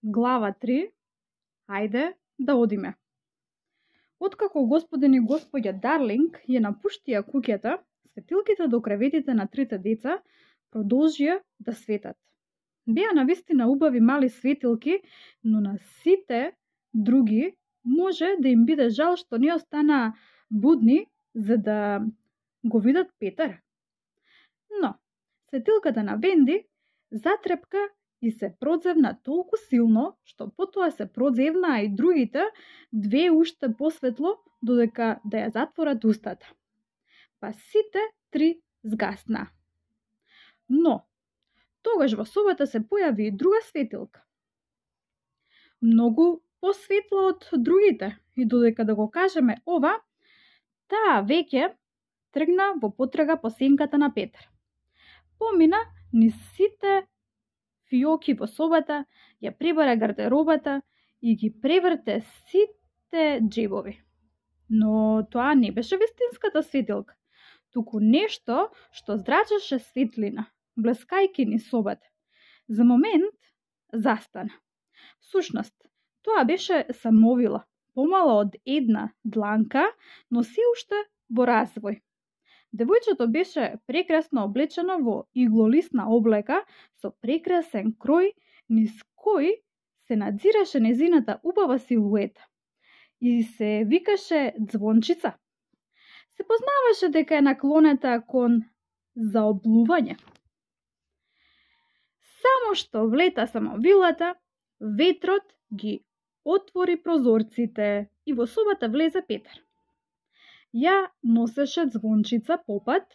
Глава 3. Ајде да одиме. Откако господин и господја Дарлинг ја напуштија куќата, светилките до креветите на трите деца продолжија да светат. Беа навистина убави мали светилки, но на сите други може да им биде жал што не останаа будни за да го видат Петар. Но светилката на Венди затрепка и се продзевна толку силно, што потоа се продзевнаа и другите две уште посветло, додека да ја затворат устата. Па сите три згаснаа. Но тогаш во собата се појави и друга светилка. Многу посветла од другите, и додека да го кажеме ова, таа веќе тргна во потрага по сенката на Петар. Помина низ сите фиоки во собата, ја пребара гардеробата и ги преврте сите джебови. Но тоа не беше вистинската светилка, туку нешто што зрачеше светлина, блескајки низ собата. За момент застана. Всушност, тоа беше самовила, помала од една дланка, но се уште во развој. Девојчето беше прекрасно облечено во иглолисна облека со прекрасен крој, низ кој се надзираше незината убава силуета и се викаше Звончица. Се познаваше дека е наклонета кон заоблување. Само што влета самовилата, ветрот ги отвори прозорците и во собата влезе Петар. Ја носеше Звончица попат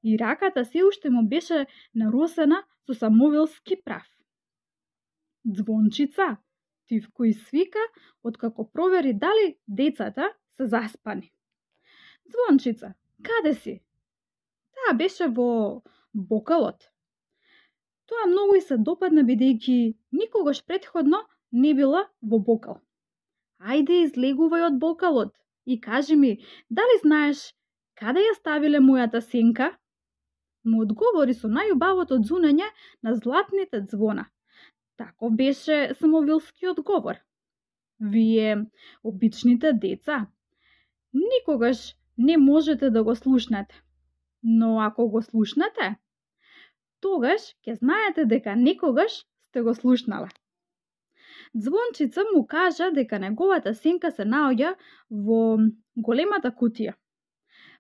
и раката се уште му беше наросена со самовилски прав. Звончица, Тивко извика, откако провери дали децата се заспани. Звончица, каде си? Таа беше во бокалот. Тоа многу и се допадна, бидејќи никогаш претходно не била во бокал. Ајде, излегувај од бокалот и кажи ми, дали знаеш каде ја ставиле мојата сенка? Му одговори со најубавото ѕунење на златните звона. Тако беше самовилски одговор. Вие, обичните деца, никогаш не можете да го слушнете. Но ако го слушнете, тогаш ќе знаете дека некогаш сте го слушнале. Звончица му кажа дека неговата сенка се наоѓа во големата кутија.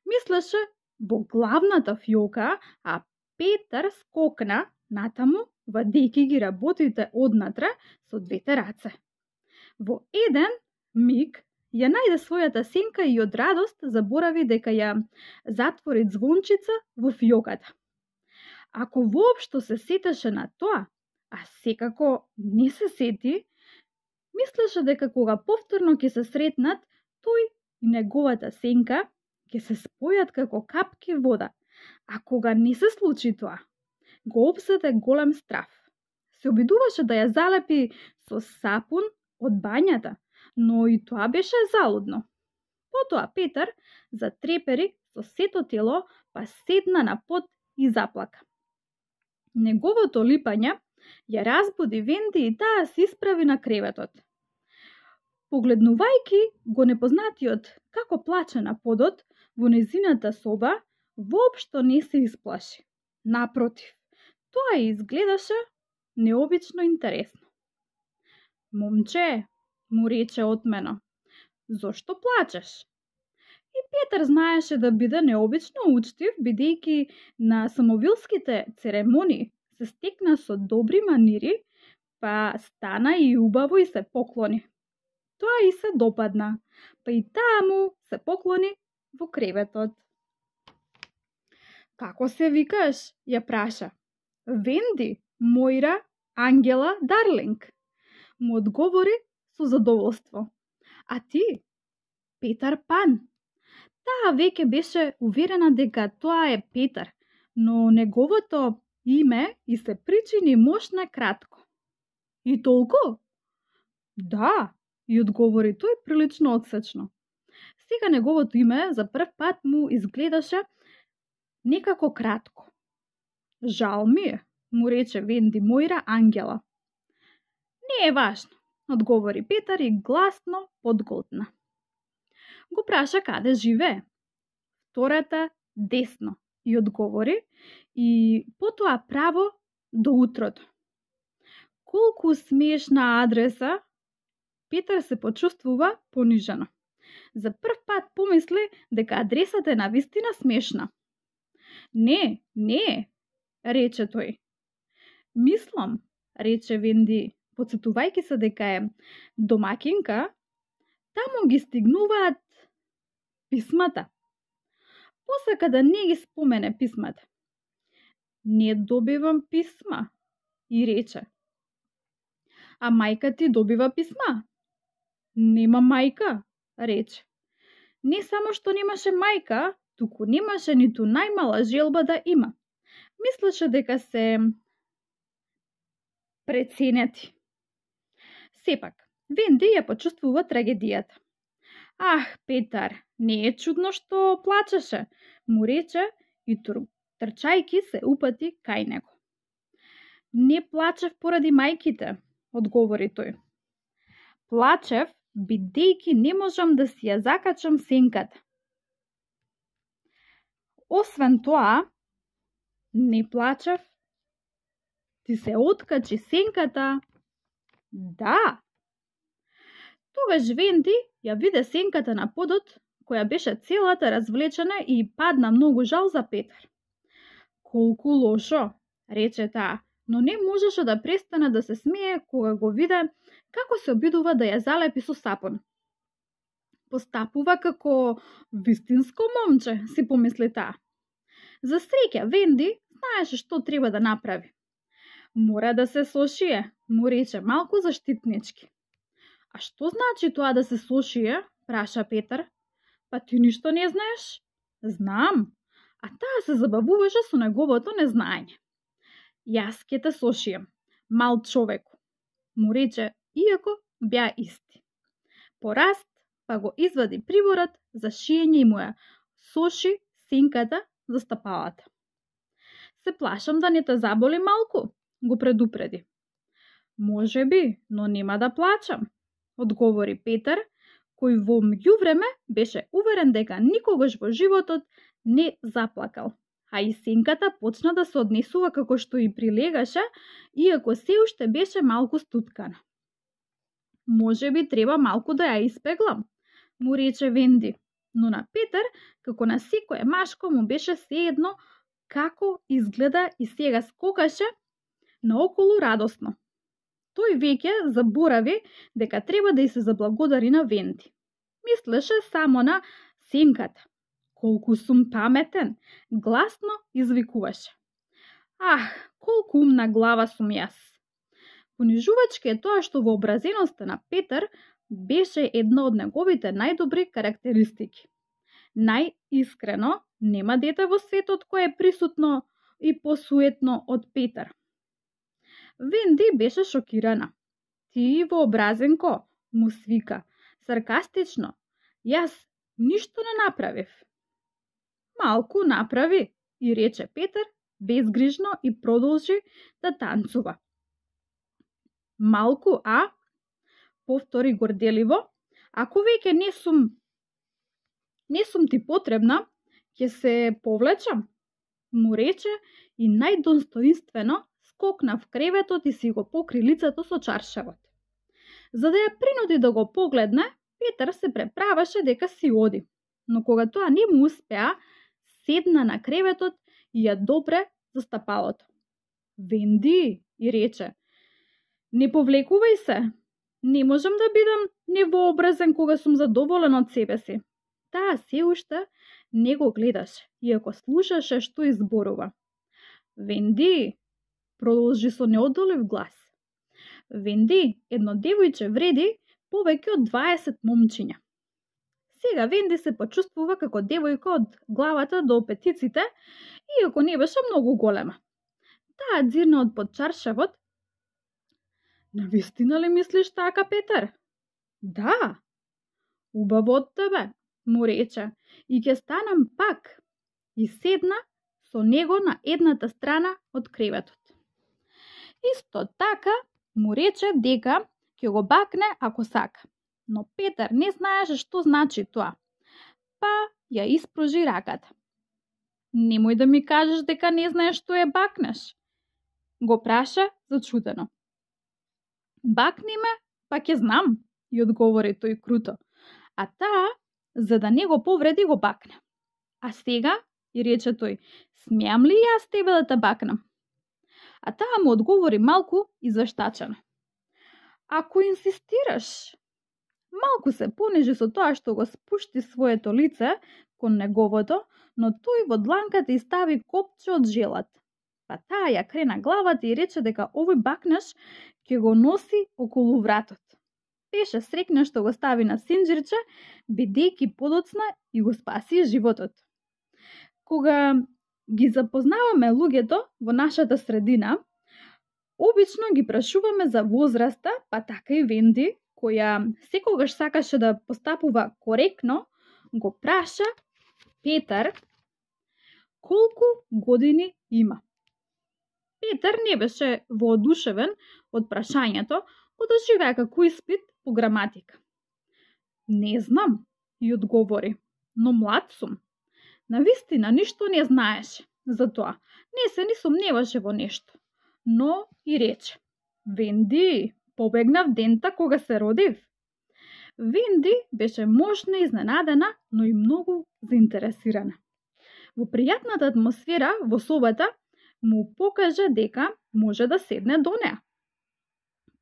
Мислеше во главната фиока, а Петар скокна натаму, вадејќи ги работите однатре со двете раце. Во еден миг ја најде својата сенка и од радост заборави дека ја затвори Звончица во фиоката. Ако воопшто се сетеше на тоа, а секако не се сети, мислеше дека кога повторно ќе се сретнат, тој и неговата сенка ќе се спојат како капки вода. А кога не се случи тоа, го опсете голем страф. Се обидуваше да ја залепи со сапун од бањата, но и тоа беше залудно. Потоа Петар затрепери со сето тело, па седна на под и заплака. Неговото липање ја разбуди Венди и таа се исправи на креветот. Погледнувајќи го непознатиот како плаче на подот во незината соба, воопшто не се исплаши. Напротив, тоа изгледаше необично интересно. Момче, му рече отмено, зошто плачеш? И Петар знаеше да биде необично учтив, бидејќи на самовилските церемонии се стекна со добри манири, па стана и убаво и се поклони. Тоа и се допадна, па и таа му се поклони во креветот. Како се викаш? Ја праша. Венди, Мојра, Ангела, Дарлинг. Му одговори со задоволство. А ти? Петар Пан. Таа веќе беше уверена дека тоа е Петар, но неговото име и се причини мошна кратко. И толку? Да, и одговори тој прилично одсечно. Сега неговото име за прв пат му изгледаше некако кратко. Жал ми е, му рече Венди Мојра Ангела. Не е важно, одговори Петар и гласно подголтна. Го праша каде живее. Втората десно и одговори и потоа право до утрото. Колку смешна адреса! Петар се почувствува понижено. За прв пат помисли дека адресата е навистина смешна. Не, рече тој. Мислам, рече Венди, подсетувајќи се дека е домакинка, таму ги стигнуваат писмата. Посака да не ги спомене писмата. Не добивам писма, и рече. А мајка ти добива писма? Нема мајка, рече. Не само што немаше мајка, туку немаше ниту најмала желба да има. Мислеше дека се преценети. Сепак, Венди ја почувствува трагедијата. Ах, Петар, не е чудно што плачеше, му рече и трчајки се упати кај него. Не плачев поради мајките, одговори тој. Плачев, бидејќи не можам да си ја закачам сенката. Освен тоа, не плачев, ти се откачи сенката. Да. Тогаш Венди ја виде сенката на подот, која беше целата развлечена и падна многу жал за Петар. Колку лошо, рече таа, но не можеше да престане да се смее кога го виде како се обидува да ја залепи со сапун. Постапува како вистинско момче, си помисли таа. За среќа, Венди знаеше што треба да направи. Мора да се сошие, му рече малку заштитнички. А што значи тоа да се сошие? Праша Петар. Па ти ништо не знаеш? Знам. А таа се забавуваше со неговото незнаење. Јас ќе те сошијам, мал човеку, му рече, иако беа исти. Пораст, па го извади приборот за шиење и му ја соши сенката за стапалата. Се плашам да не те заболи малку, го предупреди. Може би, но нема да плачам, одговори Петар, кој во меѓувреме беше уверен дека никогаш во животот не заплакал, а и сенката почна да се однесува како што и прилегаше, иако се уште беше малку стуткана. Може би треба малку да ја испеглам, му рече Венди, но на Петар, како на секое машко, му беше сеедно како изгледа и сега скокаше наоколу радосно. Тој веќе заборави дека треба да ѝ се заблагодари на Венди. Мислеше само на сенката. Колку сум паметен, гласно извикуваше. Ах, колку умна глава сум јас. Понижувачки е тоа што вообразеноста на Петар беше една од неговите најдобри карактеристики. Најискрено, нема дете во светот кое е присутно и посуетно од Петар. Венди беше шокирана. Ти вообразенко, му свика, саркастично. Јас ништо не направив. Малку направи, и рече Петар безгрижно и продолжи да танцува. Малку, а? Повтори горделиво. Ако веќе не сум ти потребна, ќе се повлечам, му рече и најдостоинствено скокна в креветот и си го покри лицето со чаршавот. За да ја принуди да го погледне, Петар се преправаше дека си оди, но кога тоа не му успеа, седна на креветот и ја допре за стапалото. Венди, и рече, не повлекувај се, не можам да бидам невообразен кога сум задоволен од себе си. Таа се уште не го гледаше, иако слушаше што изборува. Венди, продолжи со неодолив глас. Венди, едно девојче вреди повеќе од 20 момчиња. Сега Венди се почувствува како девојка од главата до петиците, иако не беше многу голема. Таа дзирна од под чаршавот. Навистина ли мислиш така, Петар? Да. Убаво од тебе, му рече, и ќе станам пак. И седна со него на едната страна од креветот. Исто така му рече дека ќе го бакне ако сака. Но Петар не знаеше што значи тоа, па ја испружи раката. Немој да ми кажеш дека не знаеш што е бакнеш, го праша зачудено. Бакни ме, па ќе знам, ја одговори тој круто, а таа, за да не го повреди, го бакне. А сега, и рече тој, смеам ли јас тебе да те бакнам? А таа му одговори малку извештачено. Ако инсистираш. Малку се понижи со тоа што го спушти своето лице кон неговото, но тој во дланката и стави копче од желат. Па таа ја крена главата и рече дека овој бакнеш ќе го носи околу вратот. Беше среќна што го стави на синџирче, бидејќи подоцна и го спаси животот. Кога ги запознаваме луѓето во нашата средина, обично ги прашуваме за возраста, па така и Венди, која секогаш сакаше да постапува коректно, го праша Петар колку години има. Петар не беше воодушевен од прашањето, одрживаа како испит по граматика. Не знам, и одговори, но млад сум. Навистина ништо не знаеше, затоа не се ни сомневаше во нешто. Но и рече, Венди, побегнав дента кога се родив. Венди беше можна и изненадена, но и многу заинтересирана. Во пријатната атмосфера во собата му покажа дека може да седне до неа.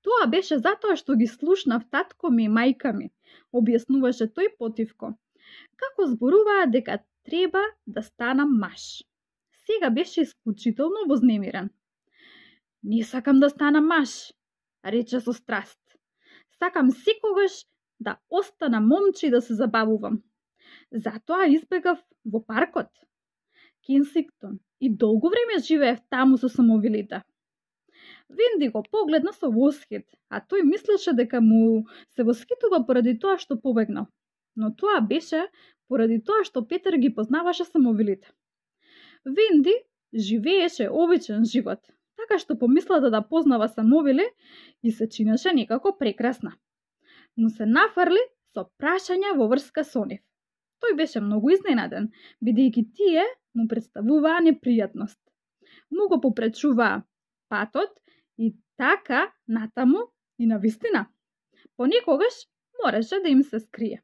Тоа беше затоа што ги слушнав татко ми и мајка ми, објаснуваше тој потивко, како зборуваа дека треба да станам маж. Сега беше исклучително вознемирен. Не сакам да станам маж, рече со страст. Сакам секогаш да останам момче и да се забавувам. Затоа избегав во паркот Кенсингтон и долго време живеев таму со самовилите. Венди го погледна со восхит, а тој мислеше дека му се восхитува поради тоа што побегнал. Но тоа беше поради тоа што Петар ги познаваше самовилите. Венди живееше обичен живот, така што помислата да познава самовили и се чинеше некако прекрасна. Му се нафрли со прашања во врска со нив. Тој беше многу изненаден, бидејќи тие му представуваа непријатност. Му го попречуваа патот и така натаму и навистина. Понекогаш мораше да им се скрие.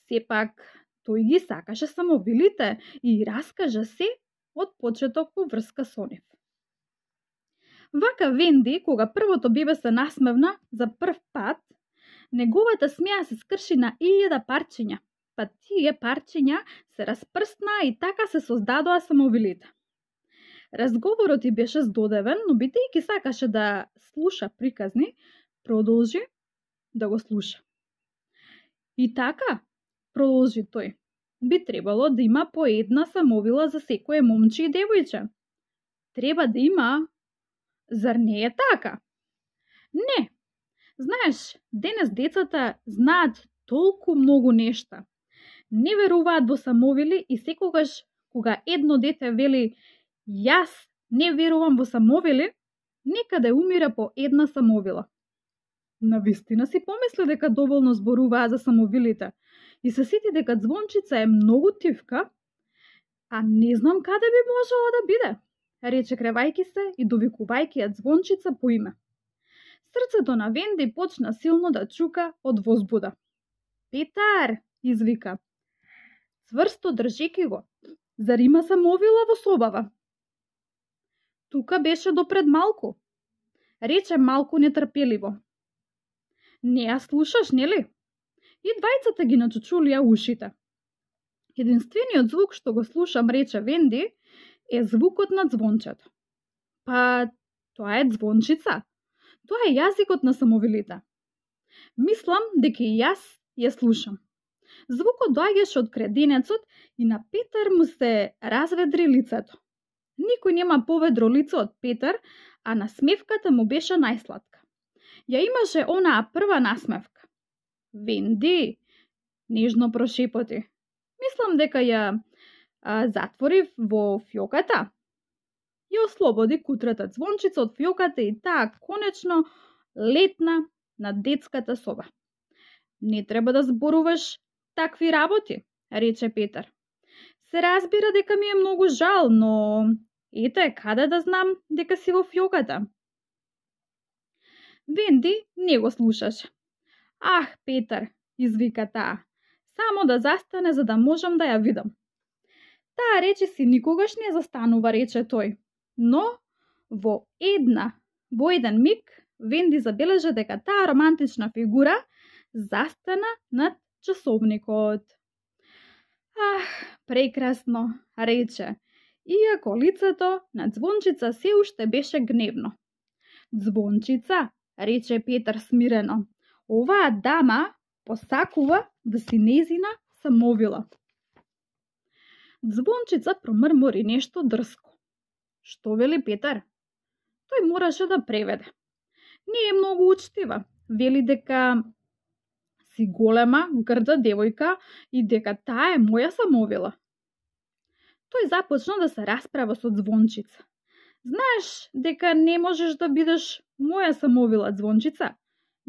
Сепак, тој ги сакаше самовилите и раскажа се од почеток во врска со нив. Вака Венди, кога првото бебе се насмевна за прв пат, неговата смеа се скрши на 1000 парчиња, па тие парчиња се распрсна и така се создадоа самовилите. Разговорот и беше здодевен, но бидејќи сакаше да слуша приказни, продолжи да го слуша. И така, продолжи тој, би требало да има по една самовила за секое момче и девојче. Треба да има. Зар не е така? Не. Знаеш, денес децата знаат толку многу нешта. Не веруваат во самовили и секогаш кога едно дете вели јас не верувам во самовили, некаде умира по една самовила. Навистина си помисли дека доволно зборуваа за самовилите и се сети дека Звончица е многу тивка, а не знам каде би можела да биде, рече кревајки се и довикувајќи ја Звончица по име. Срцето на Венди почна силно да чука од возбуда. Петар, извика. Цврсто држеки го. Зар има самовила во собава? Тука беше допред малку, рече малку нетрпеливо. Не ја слушаш, нели? И двајцата ги начучулија ушите. Единствениот звук што го слушам, рече Венди, е звукот на звончето. Па, тоа е Звончица. Тоа е јазикот на самовилите. Мислам дека и јас ја слушам. Звукот доаѓаше од креденецот и на Петар му се разведри лицето. Никој нема поведро лице од Петар, а насмевката му беше најсладка. Ја имаше онаа прва насмевка. Венди, нежно прошепоти. Мислам дека ја затворив во фјоката. Ја ослободи кутрата Звончица од фјоката и таа конечно летна на детската соба. Не треба да зборуваш такви работи, рече Петар. Се разбира дека ми е многу жал, но ете, каде да знам дека си во фјоката? Венди не го слушаше. Ах, Петар, извика таа, само да застане за да можам да ја видам. Таа речиси никогаш не застанува, рече тој, но во еден миг Венди забележа дека таа романтична фигура застана над часовникот. Ах, прекрасно, рече, иако лицето на Звончица се уште беше гневно. Звончица, рече Петар смирено, оваа дама посакува да си нејзина самовила. Звончица промрмори нешто дрско. Што вели Петар? Тој мораше да преведе. Не е многу учтива. Вели дека си голема, грда девојка и дека таа е моја самовила. Тој започна да се расправа со Звончица. Знаеш дека не можеш да бидеш моја самовила, Звончица,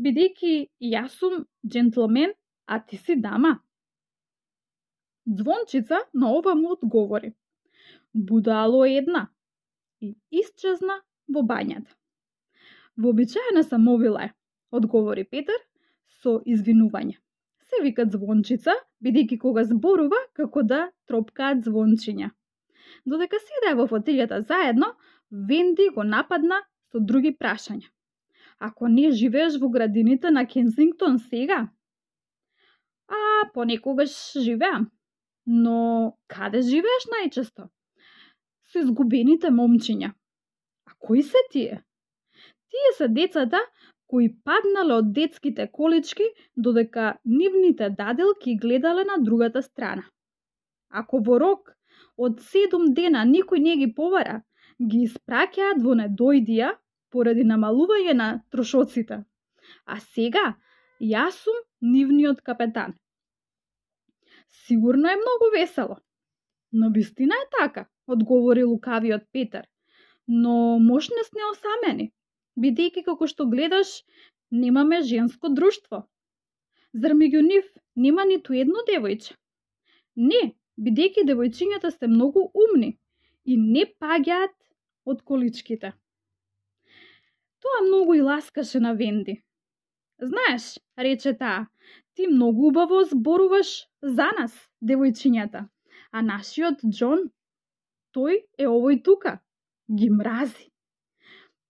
бидејќи јас сум джентлмен, а ти си дама. Звончица на ова му одговори: будало една, и исчезна во бањата. Вообичаена самовила е, одговори Петар со извинување. Се вика Звончица, бидејќи кога зборува како да тропкаат звончиња. Додека седеа во фотелјата заедно, Венди го нападна со други прашања. Ако не живееш во градините на Кенсингтон сега? Понекогаш живеам. Но каде живееш најчесто? Со изгубените момчиња. А кои се тие? Тие се децата кои паднале од детските колички додека нивните даделки гледале на другата страна. Ако во рок од 7 дена никој не ги побара, ги испраќаат во недојдија поради намалување на трошоците. А сега јас сум нивниот капетан. Сигурно е многу весело. Но вистина е така, одговори лукавиот Петар. Но мош не сме осамени, бидејќи како што гледаш, немаме женско друштво. Зар меѓу нив нема ниту едно девојче? Не, бидејќи девојчињата се многу умни и не паѓаат од количките. Тоа многу и ласкаше на Венди. Знаеш, рече таа, ти многу убаво зборуваш за нас, девојчињата, а нашиот Џон, тој е овој тука, ги мрази.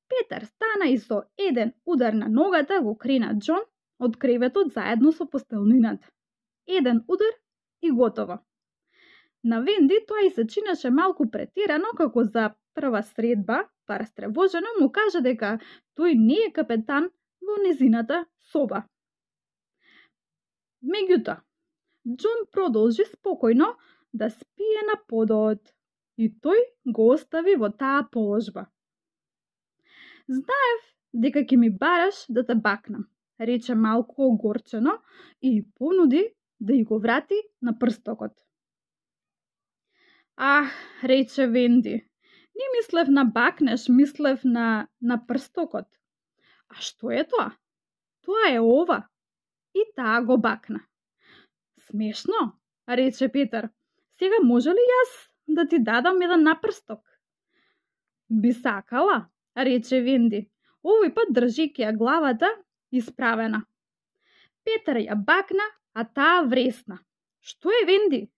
Петар стана и со еден удар на ногата го крена Џон од креветот заедно со постелнината. Еден удар и готово. На Венди тоа и се чинеше малку претерано, како за прва средба, па растревожено му кажа дека тој не е капетан во незината соба. Меѓутоа, Џон продолжи спокојно да спие на подот и тој го остави во таа положба. Знаев дека ќе ми бараш да те бакнам, рече малку огорчено и понуди да и го врати на прстокот. Рече Венди, не мислев на бакнеш, мислев на прстокот. А што е тоа? Тоа е ова. И таа го бакна. Смешно, рече Петар. Сега може ли јас да ти дадам еден напрсток? Би сакала, рече Венди, овој пат држејќи ја главата исправена. Петар ја бакна, а таа вресна. Што е, Венди?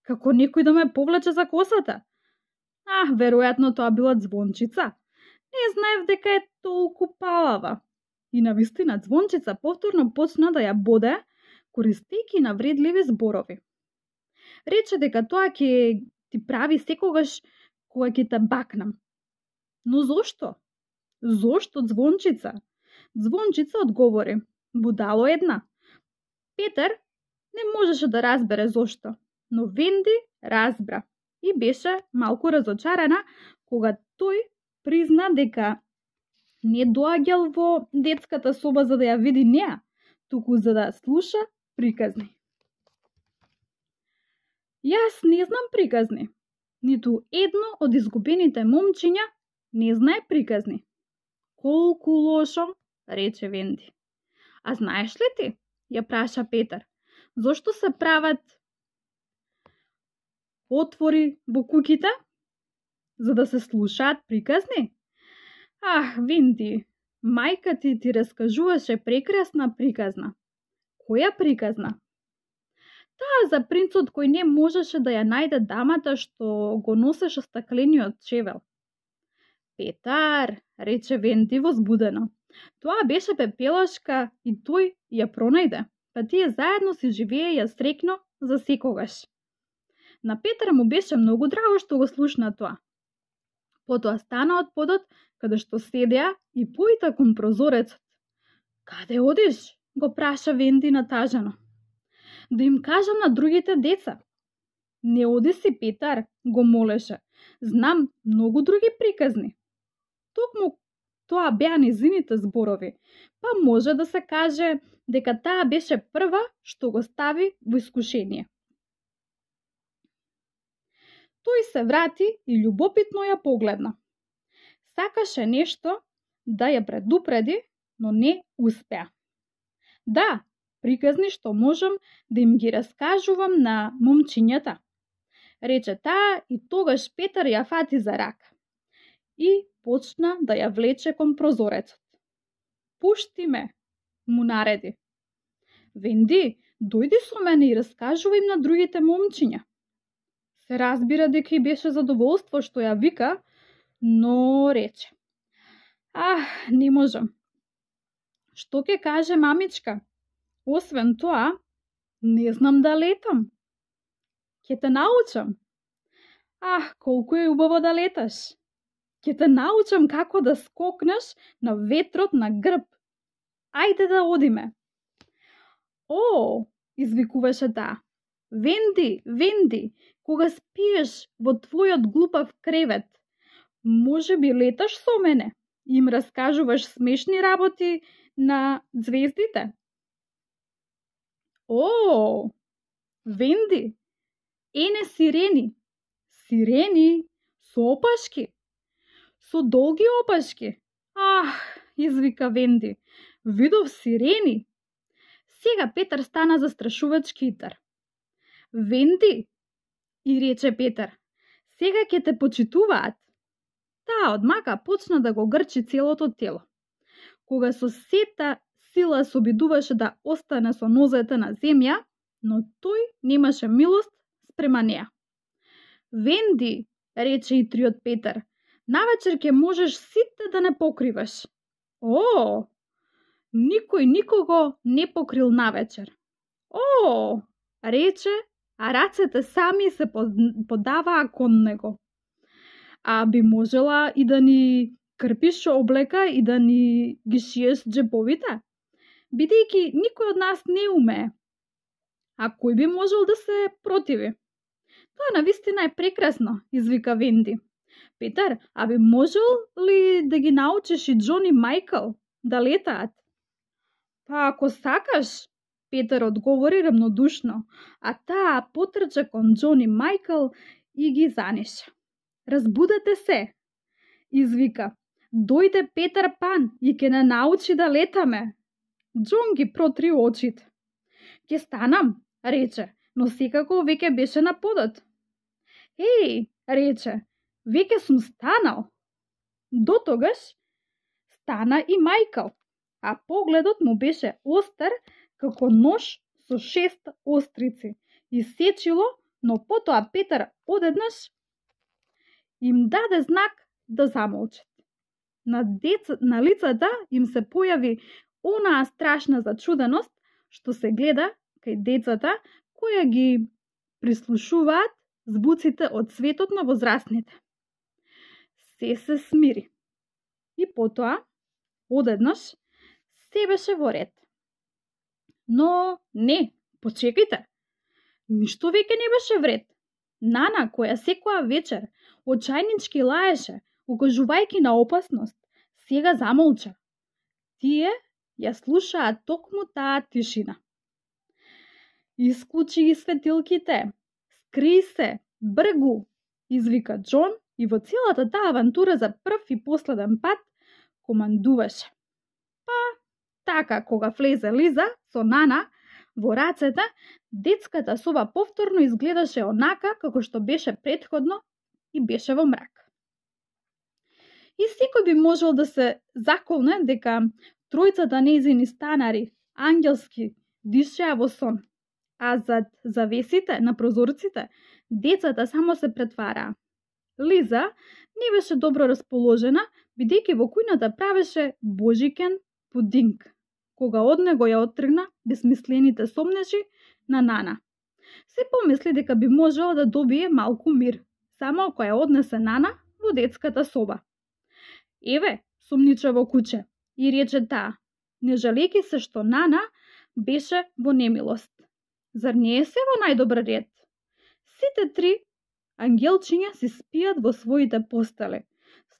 Како некој да ме повлече за косата? Веројатно тоа била Звончица. Не знаев дека е толку палава. И навистина Звончица повторно почна да ја боде, користејќи навредливи зборови. Рече дека тоа ќе ти прави секогаш кога ќе те бакнам. Но зошто? Зошто, Звончица? Звончица одговори: будало една. Петар не можеше да разбере зошто, но Венди разбра и беше малку разочарана кога тој призна дека не доаѓал во детската соба за да ја види неа, туку за да слуша приказни. Јас не знам приказни. Ниту едно од изгубените момчиња не знае приказни. Колку лошо, рече Венди. А знаеш ли ти, ја праша Петар, зошто се прават отвори во куќите? За да се слушаат приказни? Ах, Венди, мајка ти раскажуваше прекрасна приказна. Која приказна? Таа за принцот кој не можеше да ја најде дамата што го носеше стаклениот чевел. Петар, рече Венди возбудено. Тоа беше пепелашка и тој ја пронајде, па тие заедно си живееја среќно за секогаш. На Петар му беше многу драго што го слушна тоа. Потоа стана од подот каде што седеа и поита кон прозорецот. Каде одиш? Го праша Венди натажано. Да им кажам на другите деца. Не оди си, Петар, го молеше. Знам многу други приказни. Токму тоа беа незините зборови, па може да се каже дека таа беше прва што го стави во искушение. Тој се врати и љубопитно ја погледна. Сакаше нешто да ја предупреди, но не успеа. Да, приказни што можам да им ги раскажувам на момчињата, рече таа и тогаш Петар ја фати за рака и почна да ја влече кон прозорецот. Пушти ме, му нареди. Венди, дојди со мене и раскажувај им на другите момчиња. Се разбира дека и беше задоволство што ја вика, но рече. Не можам. Што ќе каже мамичка? Освен тоа, не знам да летам. Ќе те научам. Колку е убаво да леташ. Ќе те научам како да скокнеш на ветрот на грб. Ајде да одиме. Извикуваше таа. Венди, Венди, кога спиеш во твојот глупав кревет, може би леташ со мене и им раскажуваш смешни работи на звездите? Венди, ене сирени. Сирени со опашки. Со долги опашки. Извика Венди. Видов сирени. Сега Петар стана застрашувачки итар. Венди, и рече Петар, сега ќе те почитуваат. Таа одмака почна да го грчи целото тело. Кога со сета сила се обидуваше да остане со нозете на земја, но тој немаше милост спрема неа. Венди, рече итриот Петар, навечер ќе можеш сите да не покриваш. Никој никого не покрил навечер. Рече, а рацете сами се подаваа кон него. Би можела и да ни крпиш облека и да ни ги шиеш джеповите, бидејќи никој од нас не умее. А кој би можел да се противи? Тоа навистина е прекрасно, извика Венди. Петар, би можел ли да ги научиш и Џон и Мајкл да летаат? Ако сакаш, Петар одговори рамнодушно, а таа потрча кон Џон и Мајкл и ги занеша. Разбудете се, извика. Дојде Петар Пан и ќе не научи да летаме. Џон ги протри очите. Ќе станам, рече, но секако веќе беше на подот. Рече, веќе сум станал. До тогаш стана и Мајкл, а погледот му беше остар како нож со 6 острици и сечило, но потоа Петар одеднаш им даде знак да замолчат. На лицата им се појави онаа страшна зачуденост што се гледа кај децата која ги прислушуваат звуците од светот на возрастните. Се смири. И потоа, одеднаш, се беше во ред. Но не, почекајте. Ништо веќе не беше вред. Нана, која секоја вечер очајнички лаеше, укажувајќи на опасност, сега замолча. Тие ја слушаат токму таа тишина. Исклучи ги светилките, скри се, бргу, извика Џон и во целата таа авантура за прв и последен пат командуваше. Па, така, кога влезе Лиза со Нана во рацете, детската соба повторно изгледаше онака како што беше претходно и беше во мрак. И секој би можел да се заколне дека тројцата нејзини станари, ангелски, дишеа во сон, а зад завесите на прозорците децата само се претвараа. Лиза не беше добро расположена, бидејќи во кујната правеше божикен пудинг, кога од него ја оттргна безсмислените сомнежи на Нана. Се помисли дека би можела да добие малку мир, само ако ја однесе Нана во детската соба. Еве, сумничаво куче, и рече таа, не жалејќи се што Нана беше во немилост. Зар не е се во најдобар ред? Сите три ангелчиња си спијат во своите постели.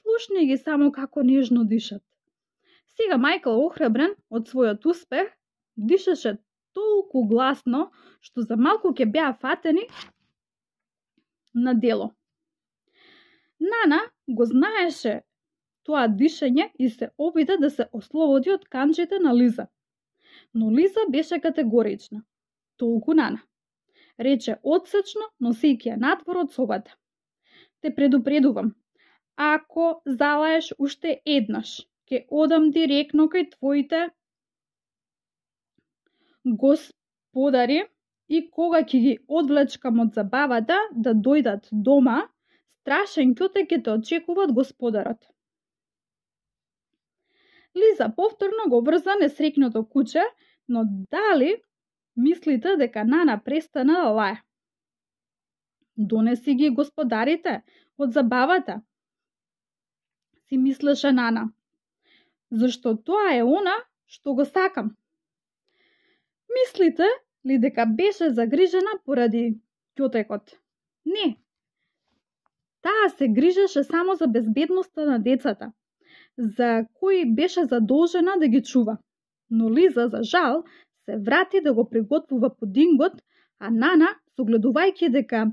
Слушни ги само како нежно дишат. Сега Мајкл, охрабрен од својот успех, дишаше толку гласно што за малку ќе беа фатени на дело. Нана го знаеше тоа дишење и се обида да се ослободи од канџите на Лиза. Но Лиза беше категорична. Толку Нана. Рече одсечно, носејќи ја надвор од собата. Те предупредувам, ако залаеш уште еднаш, ќе одам директно кај твоите господари и кога ќе ги одвлечкам од забавата да дојдат дома, страшен ќоте ќе те очекува од господарот. Лиза повторно го врза несреќното куче, но дали мислите дека Нана престана да лае? Донеси ги господарите од забавата, си мислеше Нана, зашто тоа е она што го сакам. Мислите ли дека беше загрижена поради ќотекот? Не. Таа се грижеше само за безбедноста на децата, за кои беше задолжена да ги чува. Но Лиза, за жал, се врати да го приготвува пудингот, а Нана, согледувајќи дека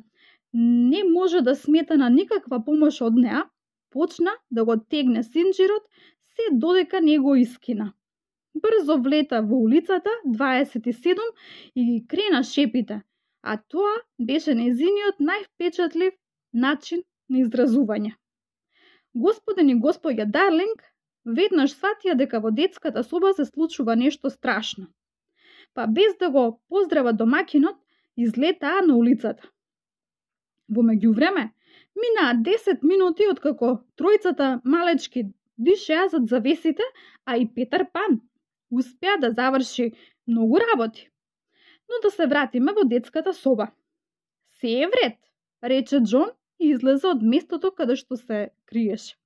не може да смета на никаква помош од неа, почна да го тегне синџирот се додека не го искина. Брзо влета во улицата 27 и ги крена шепите, а тоа беше нејзиниот највпечатлив начин на изразување. Господин и господја Дарлинг веднаш сватија дека во детската соба се случува нешто страшно. Па без да го поздрават домакинот, излетаа на улицата. Во меѓувреме, минаа 10 минути откако тројцата малечки дишеа зад завесите, а и Петар Пан успеа да заврши многу работи. Но да се вратиме во детската соба. Се е вред, рече Џон и излезе од местото каде што се криеше.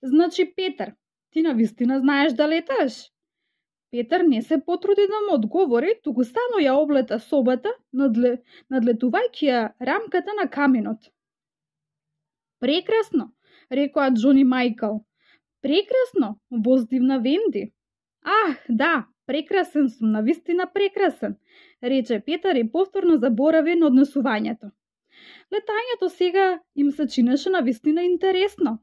Значи, Петар, ти навистина знаеш да леташ? Петар не се потруди да му одговори, туку само ја облета собата, надлетувајќи ја рамката на каминот. Прекрасно, рекоа Џон и Мајкл. Прекрасно, воздивна Венди. Ах, да, прекрасен сум, навистина прекрасен, рече Петар и повторно заборави на однесувањето. Летањето сега им се чинеше навистина интересно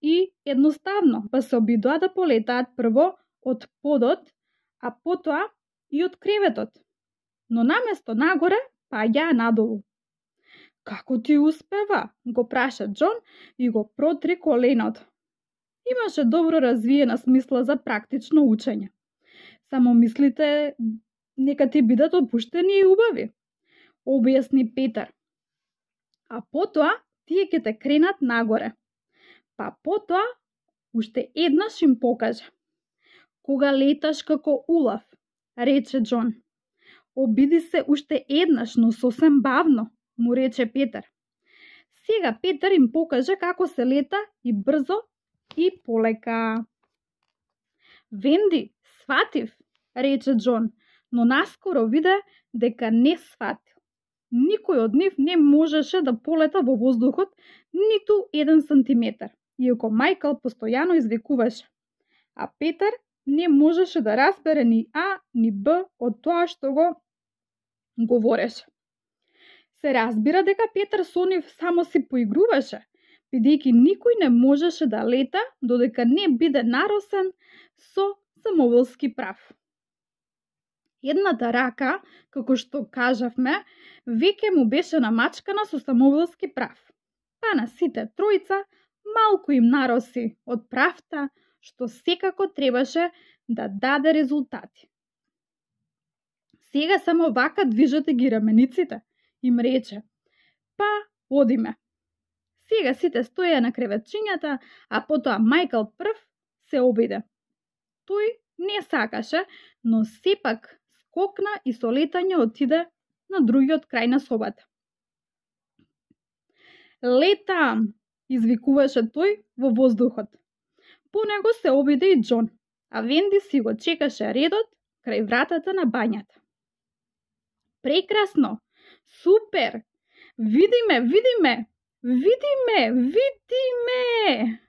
и едноставно, па се обидоа да полетаат прво од подот, а потоа и од креветот. Но наместо нагоре, паѓаа надолу. Како ти успева? Го праша Џон и го протри коленото. Имаше добро развиена смисла за практично учење. Само мислите нека ти бидат опуштени и убави, објасни Петар. А потоа тие ќе те кренат нагоре. Па потоа уште еднаш им покажа. Кога леташ како улав, рече Џон. Обиди се уште еднаш, но сосем бавно, му рече Петар. Сега Петар им покажа како се лета и брзо и полека. Венди, сватив, рече Џон, но наскоро виде дека не сватил. Никој од нив не можеше да полета во воздухот ниту 1 сантиметар, иако Мајкл постојано извикуваше. А Петар не можеше да разбере ни А, ни Б од тоа што го говореше. Се разбира дека Петар со нив само си поигруваше, бидејќи никој не можеше да лета додека не биде наросен со самоволски прав. Едната рака, како што кажавме, веќе му беше намачкана со самоволски прав. Па на сите тројца малку им нароси од правта, што секако требаше да даде резултати. Сега само вака движете ги рамениците, им рече. Па одиме. Сега сите стоја на креветчињата, а потоа Мајкл прв се обиде. Тој не сакаше, но сепак скокна и со летање отиде на другиот крај на собата. Летам, извикуваше тој во воздухот. По него се обиде и Џон, а Венди си го чекаше редот крај вратата на бањата. Прекрасно! Супер! Видиме, видиме! Видиме, видиме!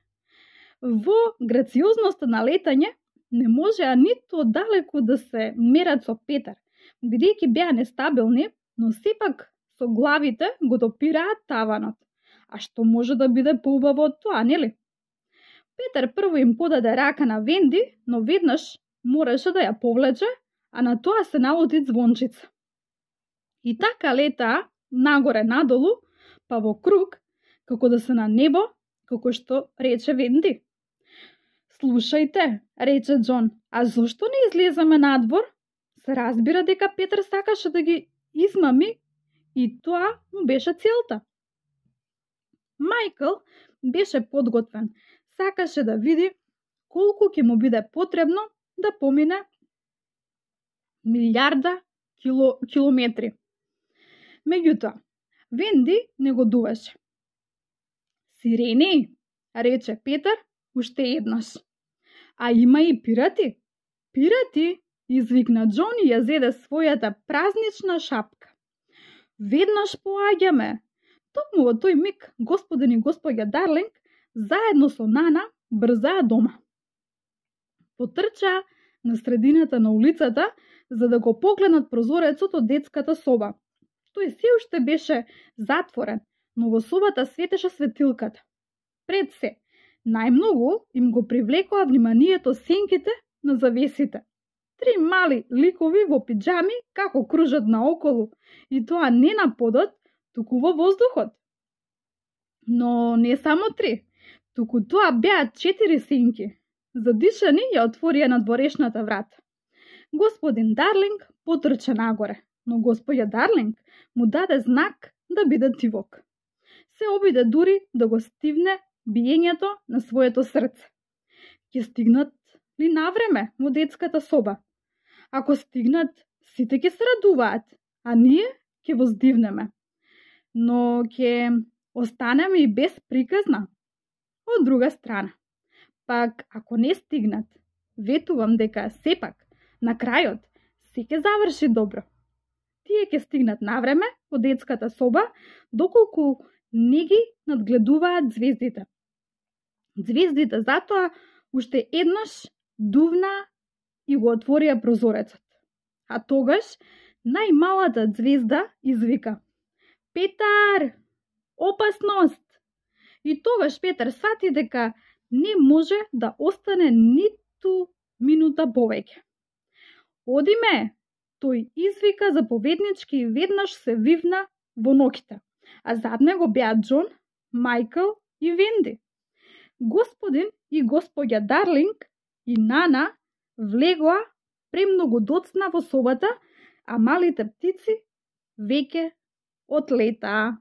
Во грациозноста на летање не можеа ниту далеку да се мерат со Петар, бидејќи беа нестабилни, но сепак со главите го допираат таванот. А што може да биде поубаво од тоа, нели? Петар прво им подаде рака на Венди, но веднаш мораше да ја повлече, а на тоа се налути Звончица. И така летаа нагоре надолу, па во круг, како да се на небо, како што рече Венди. Слушајте, рече Џон, а зошто не излеземе надвор? Се разбира дека Петар сакаше да ги измами и тоа му беше целта. Мајкл беше подготвен, сакаше да види колку ќе му биде потребно да помине милиарда километри. Меѓутоа, Венди не го дуваше. Сирени, рече Петар уште еднаш. А има и пирати. Пирати, извикна Џон и ја зеде својата празнична шапка. Веднаш поаѓаме. Токму во тој миг господин и господја Дарлинг заедно со Нана брзаа дома. Потрчаа на средината на улицата за да го погледнат прозорецот од детската соба. Тој се уште беше затворен, но во собата светеше светилката. Пред се, најмногу им го привлекоа вниманието сенките на завесите. 3 мали ликови во пиџами како кружат наоколу, и тоа не на подот, туку во воздухот. Но не само 3, туку тоа беа 4 сенки. Задишани ја отворија надворешната врата. Господин Дарлинг потрча нагоре, но господја Дарлинг му даде знак да биде тивок. Се обиде дури да го стивне биењето на своето срце. Ќе стигнат ли навреме во детската соба? Ако стигнат, сите ќе се радуваат, а ние ќе воздивнеме. Но ќе останеме и без приказна. Од друга страна, пак ако не стигнат, ветувам дека сепак, на крајот, се ќе заврши добро. Тие ќе стигнат навреме во детската соба, доколку не ги надгледуваат звездите. Звездите затоа уште еднаш дувна и го отворија прозорецот. А тогаш најмалата звезда извика: Петар! Опасност! И тогаш Петар сфати дека не може да остане ниту минута повеќе. Одиме! Тој извика заповеднички и веднаш се вивна во ноќите, а зад него беа Џон, Мајкл и Венди. Господин и господја Дарлинг и Нана влегоа премногу доцна во собата, а малите птици веќе отлетаа.